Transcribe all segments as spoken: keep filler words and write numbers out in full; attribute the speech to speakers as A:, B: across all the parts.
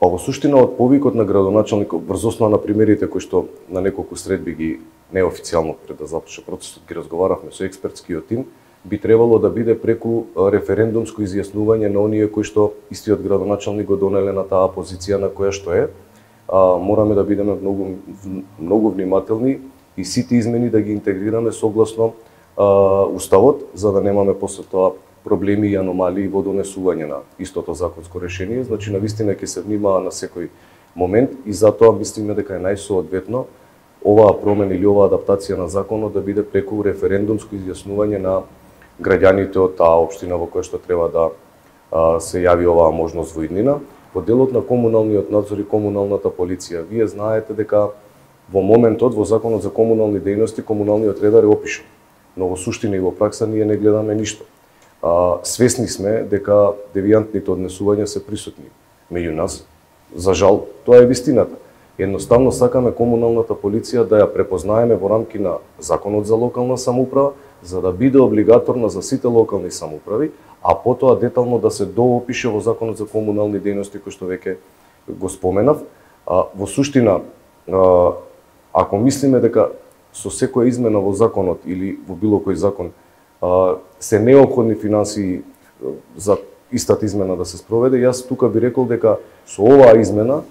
A: Па во суштина од повикот на градоначалникот врз основа на примерите кои што на неколку средби ги неофицијално пред да започне процесот ги разговаравме со експертскиот тим, би требало да биде преку референдумско изјаснување на оние кои што истиот градоначалник го донеле на таа позиција на која што е. А, мораме да бидеме многу многу внимателни и сите измени да ги интегрираме согласно а, уставот, за да немаме после тоа проблеми и аномалии во донесување на истото законско решение. Значи, навистина ќе се внимава на секој момент и затоа мислиме дека е најсоодветно оваа промена или оваа адаптација на законот да биде преку референдумско изјаснување на граѓаните од таа општина во која што треба да а, се јави оваа можност во иднина. Во делот на комуналниот надзор и комуналната полиција, вие знаете дека во моментот во законот за комунални дејности комуналниот редар е опишан, но во суштина и во пракса ние не гледаме ништо. А, свесни сме дека девијантните однесувања се присутни меѓу нас. За жал, тоа е вистината. Едноставно сакаме комуналната полиција да ја препознаеме во рамки на законот за локална самоуправа, за да биде облигаторна за сите локални самоуправи, а потоа детално да се доопише во законот за комунални дејности кој што веќе го споменав. А, во суштина, а, ако мислиме дека со секоја измена во законот или во било кој закон а, се неопходни финансии за истата измена да се спроведе, јас тука би рекол дека со оваа измена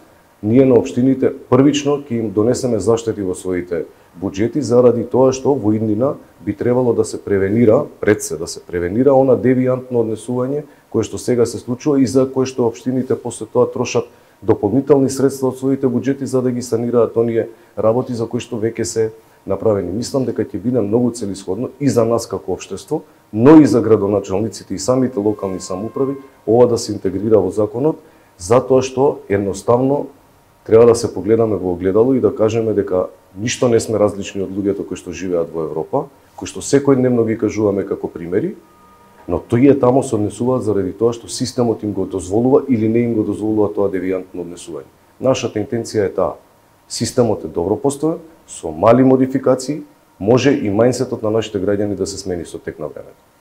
A: ние на општините првично ќе им донесеме заштети во своите буџети заради тоа што во иднина би требало да се превенира, пред се да се превенира она девијантно однесување кое што сега се случува и за кое што општините после тоа трошат дополнителни средства од своите буџети за да ги санираат оние работи за кои што веќе се направени. Мислам дека ќе биде многу целисходно и за нас како општество, но и за градоначалниците и самите локални самоуправи ова да се интегрира во законот, затоа што едноставно треба да се погледаме во огледало и да кажеме дека ништо не сме различни од луѓето кои што живеат во Европа, кои што секојдневно ги кажуваме како примери, но тие тамо се однесуваат заради тоа што системот им го дозволува или не им го дозволува тоа девијантно однесување. Нашата интенција е таа. Системот е добро постојан, со мали модификации, може и мајндсетот на нашите граѓани да се смени со тек на времето.